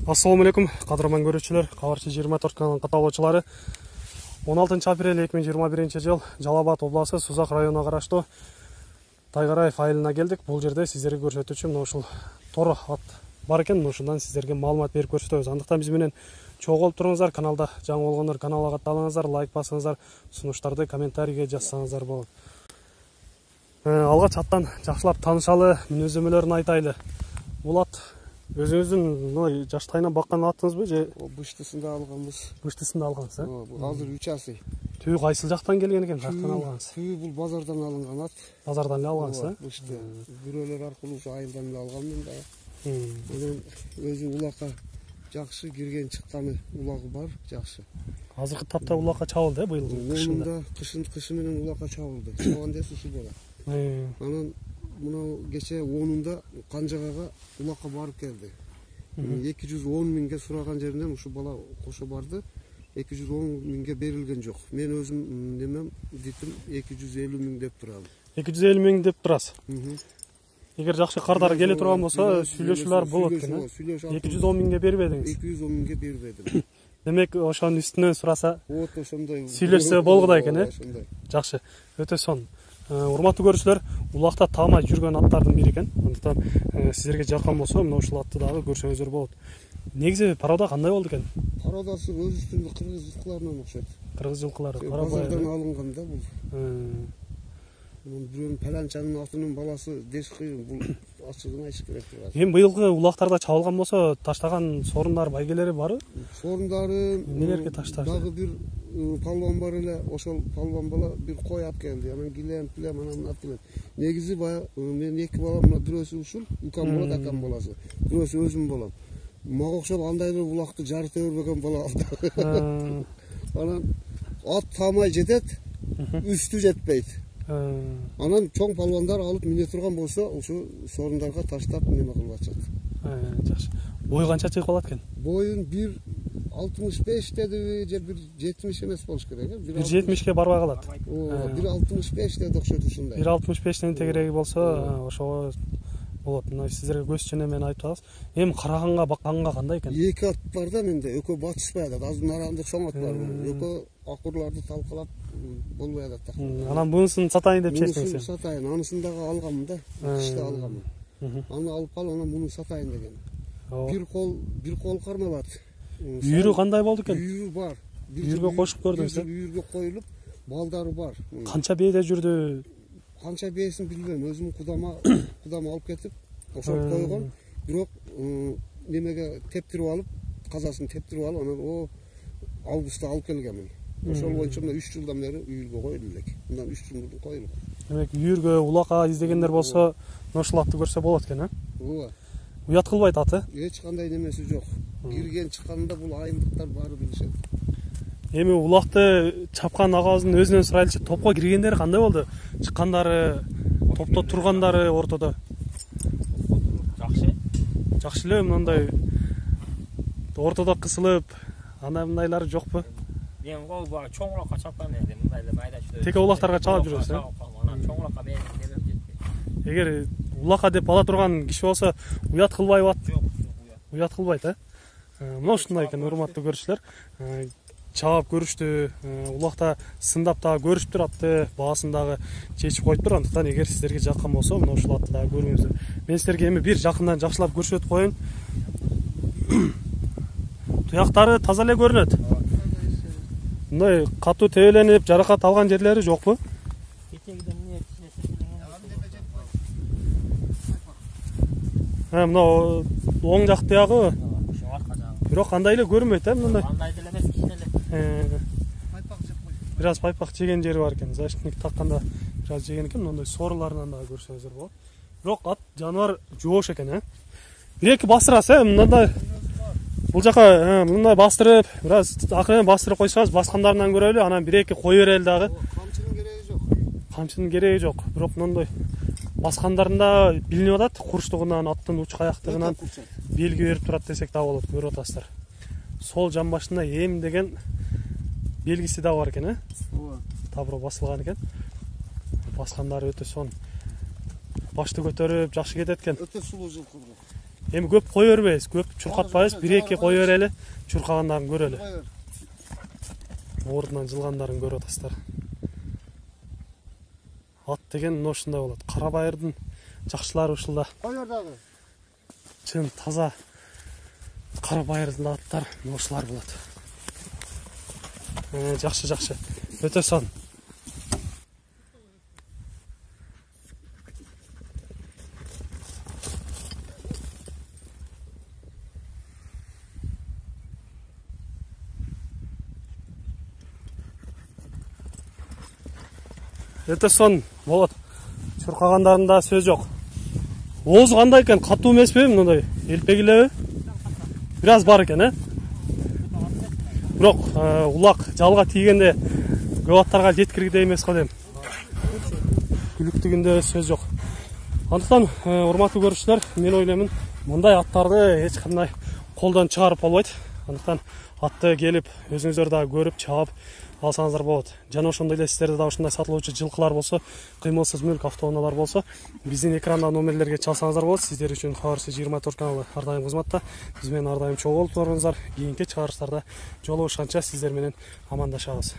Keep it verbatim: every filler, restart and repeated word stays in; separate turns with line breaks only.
Assalamu alaikum, кадырман көрүүчүлөр, Кабарчы жыйырма төрт каналынын катталуучулары. он алтынчы апрель эки миң жыйырма биринчи жыл Жалал Абад областы Сузак районуна караштуу Тайгараев айылына келдик. Бул жерде сиздерге көрсөтүүчү мына ушул тор ат бар экен, ушундан сиздерге маалымат берип көрсөтөбүз. Андыктан биз менен чогуу болуп туруңуздар. Каналда жаңы болгондор каналга катталыңыздар, лайк басыңыздар, сунуштарды комментарийге жазсаңыздар болот. Алгач аттан жакшылап таанышалы, мүнөздөмөлөрүн айтайлы. Бул ат өзүңүздүн жаштайынан баккан атыңызбы же
быштысында алганбыз?
Быштысында алгансыз, э?
Бул азыр үч асы.
Түү кайсыл жактан келген экен, жактан алгансыз?
Түү бул базардан алынган ат.
Базардан эле алгансыз, э?
Бышты. Бирөөлөр аркылуу ушу айылдан эле алганмын да. Анан өзү улакка жакшы кирген чыкканы улагы бар, жакшы.
Азыркы тапта улакка чабылды, э, быйыл
кышында. Кышын кышы менен улакка чабылды. Чабан десе ушу болот. Анан мына кече онунда Канжагага улакка барып келди. эки жүз он миңге сураган жеринен ушу бала кошо барды. эки жүз он миңге берилген жок. Мен өзүм немем дитим эки жүз элүү миң деп турам.
эки жүз элүү миң деп турасыз. Эгер жакшы кардар келе турган болсо, сүйлөшүүлөр болот экен, э? эки жүз он миңге бербедиңиз.
эки жүз он миңге бербедим.
Демек, ошонун үстүнөн сураса,
вот ошондой.
Сүйлөшсө болгудай экен, э? Жакшы. Өтө сонун. Урматтуу көрүүчүлөр, улакта таамай жүргөн аттардын бири экен. Андыктан сиздерге жаккан болсо, мына ушул атты дагы көрсөңүздөр болот. Негизи порода кандай болду экен?
Породасы өз үстүндө кыргыз жылкыларынан окшойт.
Кыргыз жылкылары,
базардан алынган да бул. Бирөөнүн паланчанын атынын баласы дешки, бул ачыгын айтыш керек.
Эми быйылкы улактарда чабылган болсо, таштаган сорундар, байгелери барбы?
Сорундары
эмнелерге ташташты?
Дагы бир палван бар эле, ошол палван бала бир кой алып келди. Анан килем, килем, анан алып келет. Негизи баягы мен эки балам, бирөөсү ушул, укам болот, акам баласы. Бирөөсү өзүм болом. Мага окшоп андай эле улакты жарыта бербеген бала алды. Анан ат таамай жетет, үстү жетпейт. Анан чоң палвандар алып мине турган болсо, ушу сорундарга таштап неме кылып атышат.
Жакшы. Бою канча чыгып калат экен?
Боюн бир алтымыш беш дедиби же бир жетимиш эмес болуш керек, э?
бир жетимишке барбай калат.
бир алтымыш беш деди окшойт ушундай.
бир алтымыш бештен тегереги болсо, ошого болот. Мына сиздерге көз чене менен айтып атабыз. Эми караганга, бакканга кандай экен?
Эки ат бар да менде, экөө батышпай атат. Азыр нарандык чоң ат бар. Экөө акурларды талкалап болбой атат.
Анан мунусун сатайын деп чечтиңиз.
Мунусун сатайын, анысын дагы алганмын да. Кышта алганмын. Аны алып кал, анан муну сатайын деген. Бир кол, бир кол кармалат.
Үйүрү кандай болду экен?
Үйүрү бар.
Үйүргө кошуп көрдүңүз, э?
Үйүргө коюлуп, балдары бар.
Канча бээде жүрдү?
Канча бээсин билбейм, өзүм кудама, кудама алып кетип, ошол койгон. Бирок немеге тептирип алып, казасын тептирип алып, анан о августта алып келгенмин. Ошол боюнча мына үч жылдан бери үйүргө коюлуп элек. Мындан үч жыл мурдун коюлуп.
Демек, үйүргө, улакка издегендер болсо, ушул атты көрсө болот экен, э?
Ооба.
Уят кылбайт аты?
Эч кандай немеси жок. Кирген чыкканда бул айылдыктар баары билишет.
Эми улакты чапкан агабыздын өзүнөн сурайлычы, топко киргендери кандай болду? Чыккандары, топто тургандары ортодо.
Жакшы.
Жакшы эле, мындай ортодо кысылып, ана мындайлары жокпу?
Мен гол бар, чоң улакка чапкан эдим, мындай эле майда чөй.
Теке улактарга чалып жүрөсүз, э?
Анан чоң улакка мен демем жетпейт.
Эгер улакка деп ала турган киши болсо, уят кылбайбы ат?
Жок, уят.
Уят кылбайт, э? Мына ушундай экен, урматтуу көрүүчүлөр. Чаап көрүштү, улакта сындап дагы көрүшүптүр, атты баасын дагы чечип коюптур. Андыктан эгер сиздерге жаккан болсо, мына ушул атты дагы көрүңүздөр. Мен сиздерге эми бир жакындан жакшылап көрсөтүп коеюн. Туяктары таза эле көрүнөт. Мындай катуу тебеленип, жаракат алган жерлери жокпу? Э, мына оң жак тиягы. Бирок кандай эле көрүнбөйт, э, мындай.
Кандай деле эмес, кичине эле.
Пайпак жеп койду.
Бир аз пайпак жеген жери бар экен. Защитник такканда бир аз жеген экен, мындай соруларынан дагы көрсөңүздөр болот. Бирок ат жаныбар жоош экен, э. Бир эки бастырасыз, э, мындай. Бул жака мындай бастырып, бир аз акырын бастырып койсоңуз, баскандарынан көрөлү, анан бир эки кой берели дагы.
Камчынын кереги жок.
Камчынын кереги жок, бирок мындай баскандарында билинип атат, курчтугунан, аттын уч каяктыгынан белги берип турат десек да болот, көрүп атасыздар. Сол жан башында эм деген белгиси да бар экен, э?
Ооба.
Табро басылган экен. Баскандары өтө сон. Башты көтөрүп, жакшы кетет экен.
Өтө сулуу жылкы.
Эми көп кое бербейбиз, көп чуркатпайбыз, бир эки кое берели, чуркагандарын көрөлү. Ордунан жылгандарын көрүп атасыздар. Ат деген мына ушундай болот. Кара байырдын жакшылары ушулда.
Койордагы.
Чын таза кара байырдын аттар мына ушулар болот. Э, жакшы, жакшы. Өтө сон. Өтө сон болот. Чуркагандарында сөз жок. Оозу кандай экен? Катуу эмеспи? Мындай элпегилеби? Бир аз бар экен, э? Бирок улак жалга тийгенде көп аттарга жеткиргидей эмес го дейм. Күлүктүгүндө сөз жок. Андыктан урматтуу көрүүчүлөр, мен ойлоймун, мындай аттарды эч кандай колдон чыгарып болбойт. Андыктан атты келип өзүңүздөр дагы көрүп, чаап алсаңыздар болот. Жана ошондой эле сиздерде да ушундай сатылуучу жылкылар болсо, кыймылсыз мүлк автоунаалар болсо, биздин экрандагы номерлерге чалсаңыздар болот. Сиздер үчүн Кабарчы жыйырма төрт каналы ар дайым кызматта. Биз менен ар дайым чогуу болуп туруңуздар. Кийинки чыгарыштарда жолугушканча сиздер менен амандашабыз.